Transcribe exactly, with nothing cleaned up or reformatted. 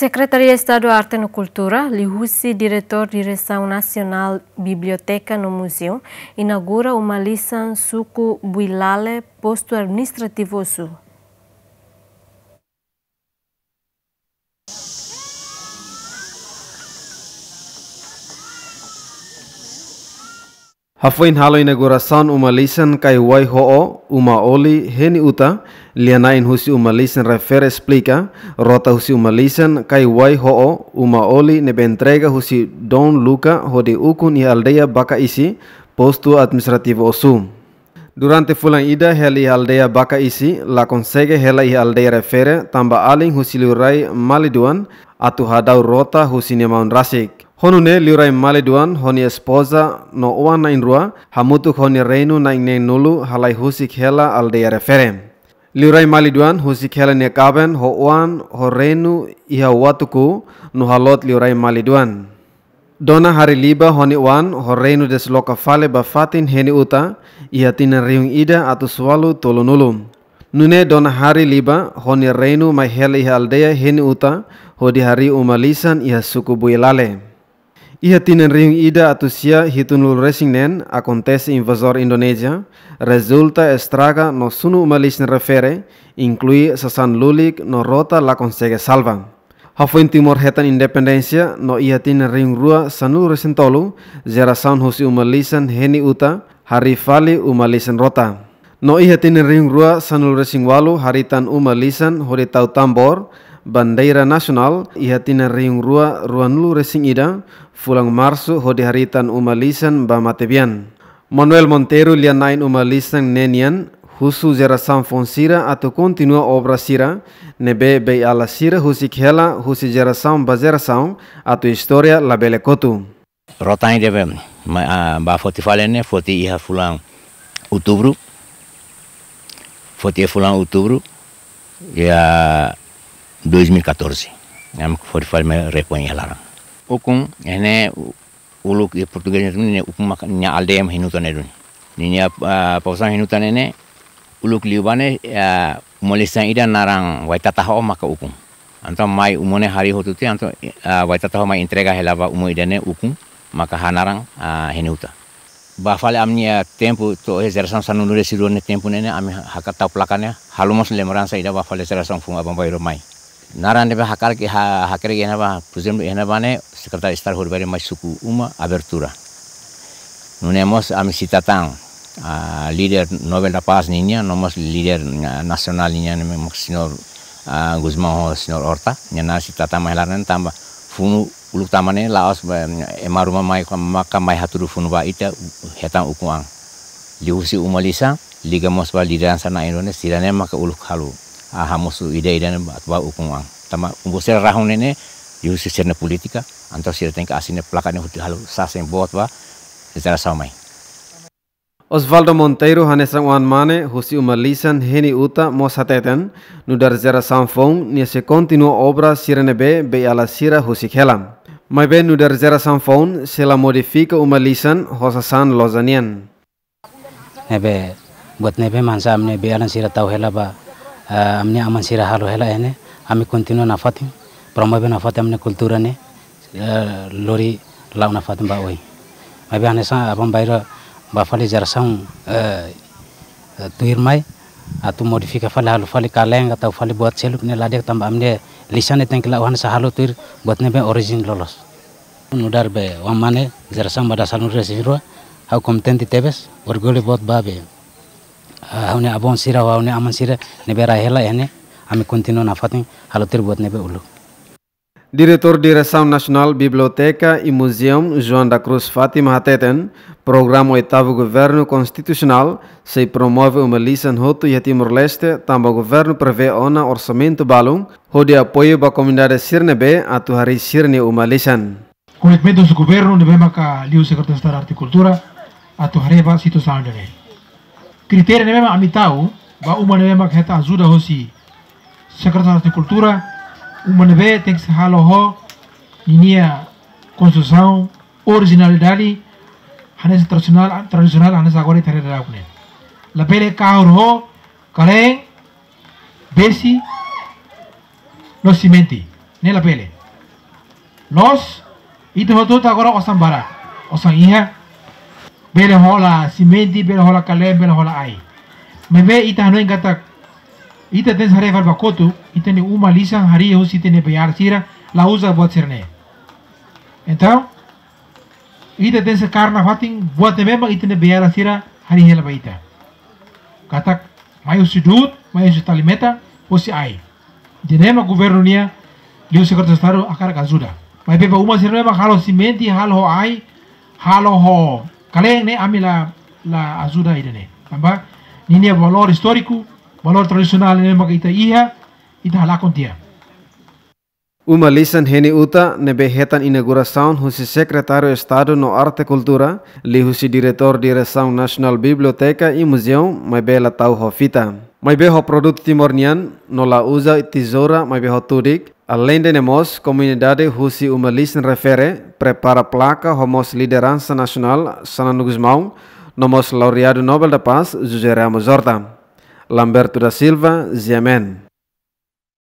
Sekretaria Estadu Arte no Kultura, liuhusi Diretór Diresaun Nasionál Biblioteka no Muzeu, inaugura uma lisan suku Builale, postu administrativu Ossu. Hafoin halo inaugurasaun uma lisan Kaiwai Ho'o, Uma Oli, Heni Uta, lia-na'in husi uma lisan refere esplika, rota husi uma lisan Kaiwai Ho'o, Uma Oli ne'ebé entrega husi Dom Luca hodi ukun iha aldeia Bakaisi, postu administrativu Ossu. Durante fulan ida hela iha aldeia Bakaisi, la konsege hela iha aldeia refere, tanba alin husi liurai Maliduan atu hadau rota husi nia maun rasik. Ho nune'e liurai Maliduan ho nia espoza no oan na'in-rua, hamutuk ho nia reinu na'in neen-nulu halai husik hela aldeia refere. Liurai Maliduan husik hela nia kaben ho oan ho reinu iha Watuku no haloot liurai Maliduan. Dona Hari Liba ho nia oan ho reinu desloka fali ba fatin Heni Uta, iha tinan rihun ida atus ualu tolunulu. Nune'e Dona Hari Liba ho nia reinu mai hela iha aldeia Heni Uta, hodi harii uma lisan iha suku Builale. Iha tinan rihun ida atus sia hitunulu resin neen akontese invazór Indonézia, rezulta estraga no sunu uma lisan refere, inklui sasán lulik no rota la konsege salva. Hafoin Timor hetan independénsia no iha tinan rihun rua sanulu resin tolu, jerasaun husi uma lisan Heni Uta harii fali uma lisan rota. No iha tinan rihun rua sanulu resin ualu harii tan uma lisan hodi tau tambór, bandeira nasionál, iha tinan rihun rua ruanulu resin ida, fulan Marsu hodi harii tan uma lisan ba matebian. Manuel Monteiro lia-na'in uma lisan ne'e nian, husu jerasaun foun sira atu kontinua obra sira ne'ebé Beiala sira husik hela husi jerasaun ba jerasaun atu istória labele kotu. Rota ida be, ma, ah, ba foti fali ne'e, foti iha fulan Outubru, foti iha fulan Outubru, iha dois mil e catorze. Ami foti fali mai repoin iha laran. Ukun, ne'e uluk iha portugés ne'e ukun maka nia aldeia mak Heni Uta ne'e duni. Ninia, ah, povoasaun Heni Uta ne'e ne'e, uluk liubá ne'e, ah, uma lisan ida naran Waitata Ho'o maka ukun. Entaun mai uma ne'e harii hotu tiha, entaun, ah, Waitata Ho'o mai entrega hela ba uma ida ne'e ukun, maka hanaran, ah, Heni Uta. Ba fali ami-nia tempu to'o iha jerasaun sanulu resin rua nia tempu ne'e ne'e ami hakarak tau plaka ne'e, halo mós lembransa ida ba fali jerasaun foun aban-bainrua mai. Naran ne'ebé hakarak ke ha-, hakarak ke iha ne'ebá, por ezemplu, iha ne'ebá ne'e, Sekretáriu Estadu hodi bele mai suku uma abertura. Nune'e mós ami sita tan, ah, líder Nobel da Paz ninia, no mós líder, ah, nasionál ninia, ne'e mak señór, ah, Gusmão ho señór Horta, nia naran sita tan mai hela ne'e tanba funu uluk tama ne'e la'ós ba, ema ruma mai, maka mai hatudu funu ba ita, hetan ukun an. Liuhusi uma lisan, liga mós ba lideransa na'in-rua ne'e, sira ne'e maka uluk halo, ah, hamosu ida-ida ne'e ba, ba ukun an. Tanba umbu sira rahun ne'e ne'e, liuhusi sira-nia polítika, entaun sira tenke asina plaka ne'e hodi halo sasin boot ba jerasaun mai. Osvaldo Monteiro hanesan oan mane husi uma lisan Heni Uta mós hateten, nu'udar jerasaun foun nia sei kontinua obra sira ne'ebé Beiala sira husik hela. Maibé nu'udar jerasaun foun sei la modifika uma lisan ho sasán loja nian. Ne'ebé, buat ne'ebé mak hanesan ami-nia beiala sira tau hela ba, eh, ami-nia aman sira halo hela iha ne'e, ami kontinua nafatin, promove nafatin ami-nia kultura ne'e, eh, lori la'o nafatin ba oin. Maibé hanesan aban-bainrua ba fali jerasaun, eh, eh, tuirmai, atu modifika fali halo fali kaleng, atu fali buat seluk ne'e la di'ak tanba ami-nia lisan ne'e tenke la'o hanesan halo tuir buat ne'ebé orijin loloos. Nu'udar be oan mane jerasaun ba dasanulu resin rua, ha'u kontente tebes, orgullu boot ba be, ah, ha'u-nia avó sira, ha'u-nia aman sira, ne'ebé rai hela iha ne'e, ami kontinua nafatin, halo tuir buat ne'ebé uluk. Diretór Diresaun Nasionál Biblioteka i Muzeu, João da Cruz Fátima hateten, programa Oitavu Governu Konstitusionál sei promove uma lisan hotu iha Timor-Leste, tanba governu prevee ona orsamentu balun, hodi apoiu ba komunidade sira ne'ebé atu harii sira-nia uma lisan. Komitmentu husi governu ne'ebé maka liu Sekretáriu Estadu Arte Kultura atu haree ba situasaun ida-ne'e. Kritériu ne'ebé mak ami tau ba uma ne'ebé maka hetan ajuda husi Sekretáriu Estadu Kultura, uma ne'ebé tenke sei halo ho ninia konstrusaun orijinalidade, hanesan tradisionál, tradisionál hanesan agora ita haree daudaun ne'e. Labele kahur ho kaleng, besi, no simente. Ne'e labele. Loos, ita hotu-hotu agora osan barak, osan iha, bele hola simente, bele hola kaleen, bele hola ai. Maibé ita hanoin katak, ita tenke haree fali ba kotuk, ita-nia uma lisan harii husi ita-nia beiala sira, la uza buat sira-ne'e. Entaun, ita tenke kaer nafatin buat ne'ebé mak ita-nia beiala sira harii hela ba ita. Katak, mai husi du'ut, mai husi tali-metan, husi ai. Ida-ne'e mak governu nian, liuhusi Sekretáriu Estadu hakarak ajuda. Maibé ba uma sira-ne'e mak halo simente, halo ho ai, halo ho kaleen ne'e, ami la, la ajuda ida-ne'e. Tanba ninia valór istóriku, valór tradisionál ne'ebé mak ita iha, ita halakon tiha. Uma lisan Heni Uta ne'ebé hetan inaugurasaun husi Sekretáriu Estadu no Arte Kultura, liuhusi Diretór Diresaun Nasionál Biblioteka i Muzeu, maibé la tau ho fita. Maibé ho produtu Timor nian, no la uza tezoura, maibé ho tudik, aleinde ne'e mós komunidade husi uma lisan refere, prepara plaka ho mós lideransa nasionál, Xanana Gusmão, no mós laureadu Nobel da Paz, José Ramos Horta. Lamberto da Silva, G M N.